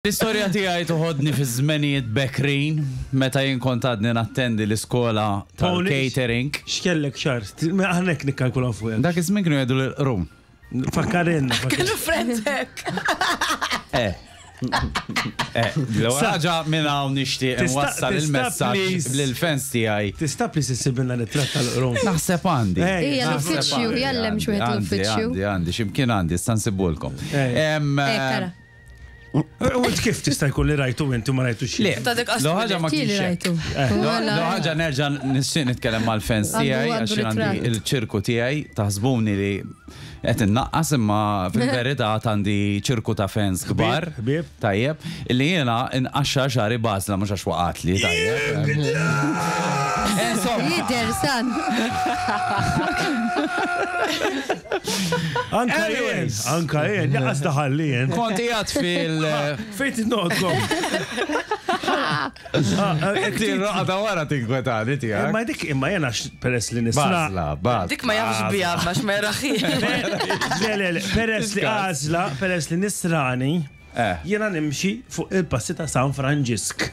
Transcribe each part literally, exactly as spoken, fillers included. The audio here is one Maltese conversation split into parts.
L-istorja tiegħi toħodni fi żmenijiet bekrin meta jien kont għadni nattendi l-iskola tal-catering. X'kellek xahar? Aħna hekk nikkalkulaw fuq. Dak iż-żmien kienu jgħidu l-rum. Fakkarinna. Kellu friends hekk. Eh. Eh, l-ewwel ħaġa minn hawn nixtieq Tista' nwassal tista' il-messaġġ please. lill-fans tiegħi. Tista' please issibilna ritratt tal-qrun. Naħseb għandi. Eh, Ija, Naħseb l-uffiċċju, għandi, jallem xi wieħed għandi, l-uffiċċju. Għandi, għandi, x'imkien għandi, issa nsibulkom. Eh. Em, Eh, kara. U int kif tista' jkun li rajtu inti ma rajtu xi? Le, Ta' dik l ħaġa ma Kili kienx hekk. rajtu. Lo ħaġa nerġa' nixtieq nitkellem mal-fans Għandu- tiegħi għandu għax jien għandi ritratt. il-ċirku tiegħi, taħsbuni li qed innaqqas, imma fil-verità għandi ċirku ta' fans kbar. Ħbieb. Tajjeb, illi jiena nqaxxar xagħri b'għażla, mhux għax waqatli, tajjeb. Insomma, Jider, san. Anka jien, Anyways. anka jien, jaqas daħal li jien. Kont qiegħed fil- Fejn titnoqgħodkom? Inti r-roqa wara tinkwetani tiegħek. Imma dik imma jena peress li nisra. Bażla, bażla. Dik ma jafx bija, għax ma jaraħi. Le, le, le, peress li għażla, peress li nisrani, Eh. jena nimxi fuq il-passi ta' San Franġisk.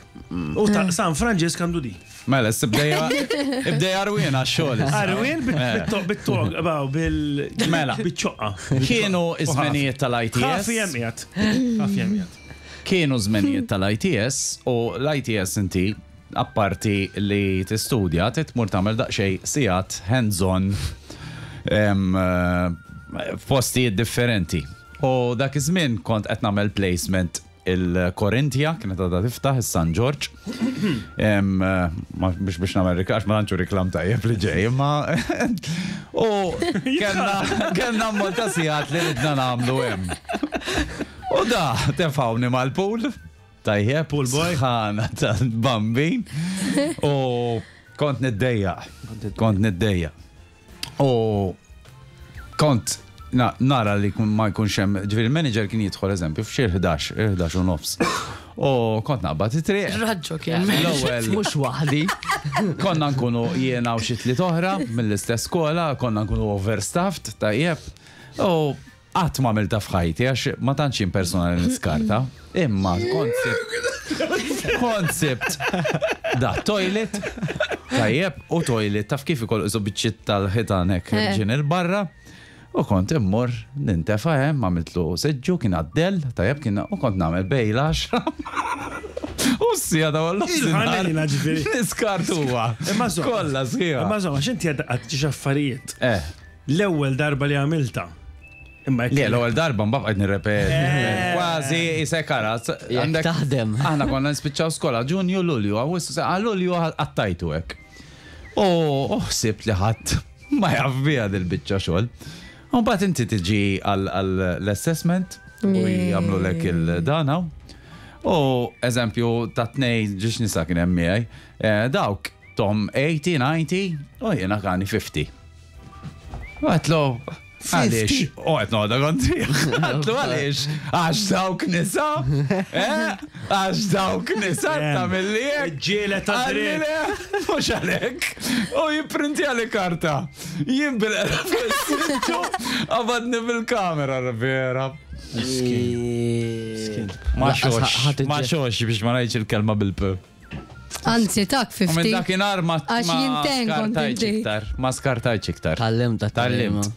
U ta' San Franġisk għandu di. Mela, ibdejja ibdejja arwien għax-xogħol issa. Arwin bit-tog, baw, bil. Mela. Bit-ċoqqa. Kienu iż-żmenijiet tal-I T S. Ħafi jemmiet. Ħafi jemmiet. Kienu żmenijiet tal-I T S u l-I T S inti apparti li tistudja titmur tagħmel daqsxejn sigħat hands-on em, eh, f'postijiet differenti. U dak iż-żmien kont qed nagħmel placement il-Korintia, kienet għadha tiftaħ is-San Ġorġ. Em, eh, ma- Biex biex nagħmel reklam, ma tantx reklam tajjeb li ġej, imma u kellna kellna ammont ta' sigħat li ridna nagħmlu hemm. U da, tefawni mal-pool. Tajjeb, Pool boy. Sħana tal-bambin. U kont niddejja. Kont niddejja. U kont na, nara li kun ma jkunx hemm, ġifieri il-manager kien jidħol, eżempju, f'xi ħdax, ħdax u nofs. U kont naqbad it-triq. Raġġo kien. L-ewwel Mhux waħdi. Konna nkunu jiena u xi tliet oħra mill-istess skola, konna nkunu overstaffed, tajjeb. U qatt ma għamilta f'ħajti għax ma tantx jien personali niskarta. Imma kont sibt kont sibt da toilet, tajjeb, u toilet taf kif ikoll isu biċċiet tal-ħitan hekk Eh. ġin il-barra. U kont immur nintefa' hemm, għamiltlu seġġu, kien għaddel, tajjeb, kien u kont nagħmel bejn l-għaxra. U s-sija ta' wallu. Il-ħanina ġifieri. Niskart huwa. Imma żomm. Kollha sħiħa. Imma żomm, għax inti għad ġiex affarijiet. Eh. L-ewwel darba li għamilta. Imma jekk- Le, l-ewwel darba mbagħad qed nirrepeti. Eh. Kważi isek ara. Jekk taħdem. Aħna konna nispiċċaw skola Ġunju, Lulju, Awwissu, se- għal Lulju għattajtu hekk. U ħsibt li ħadd ma jaf biha dil-biċċa xogħol. U mbagħad inti tiġi għall-assessment u jagħmlu lek il-dana. U eżempju ta' tnej ġiex nisa kien hemm miegħi, eh, dawk tom tmenin, disgħin u jiena kani ħamsin. U għedtlu, għaliex? U għet noda kontri. Għedtlu, għaliex? Għax dawk nisa? Eh? Għax dawk nisa ta' mill-li Ġiela ta' dritt. mhux għalek. U jiprinti għali karta. Jien bil għabadni bil-kamera, vera. Ma xox, ma xox biex ma ngħidx il-kelma bil-p. Anzi, tak U minn ħamsin. dakinhar ma Għax ma jinten kont skartajtx inti. iktar. Ma skartajtx iktar. Tallimt, Tallimt.